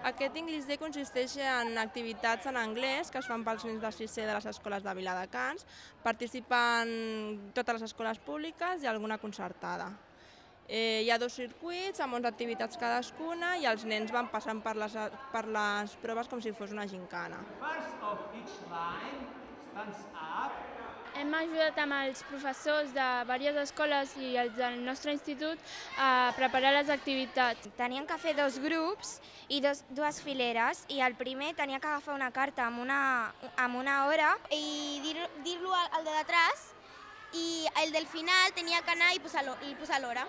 Aquest English Day consisteix en activitats en anglès que es fan pels nens de 6è de les escoles de Viladecans. Participen totes les escoles públiques i alguna concertada. Hi ha 2 circuits amb 11 activitats cadascuna i els nens van passant per les proves com si fos una gincana. Hem ajudat amb els professors de diverses escoles i els del nostre institut a preparar les activitats. Tenien que fer 2 grups i dues fileres i el primer tenia que agafar una carta amb una hora i dir-lo al de detrás i el del final tenia que anar i posar l'hora.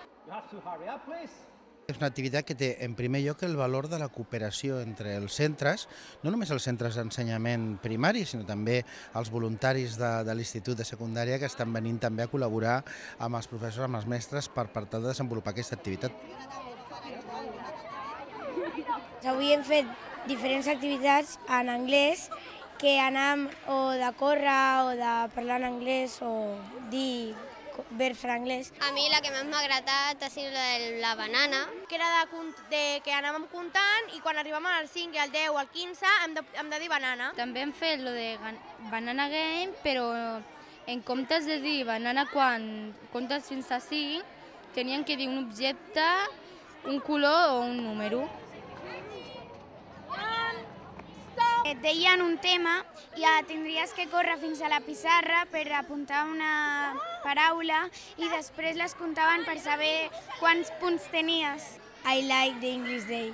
És una activitat que té en primer lloc el valor de la cooperació entre els centres, no només els centres d'ensenyament primari, sinó també els voluntaris de l'Institut de Secundària que estan venint també a col·laborar amb els professors, amb els mestres per tal de desenvolupar aquesta activitat. Avui hem fet diferents activitats en anglès que anàvem o de córrer o de parlar en anglès o dir verbs en anglès. A mi la que més m'ha agradat ha sigut la banana, que era que anàvem comptant i quan arribàvem al 5, al 10 o al 15 hem de dir banana. També hem fet lo de Banana Game, però en comptes de dir banana quan comptes fins a 5, tenien que dir un objecte, un color o un número. Et deien un tema i tindries que córrer fins a la pissarra per apuntar una paraula i després les comptaven per saber quants punts tenies. I like the English Day.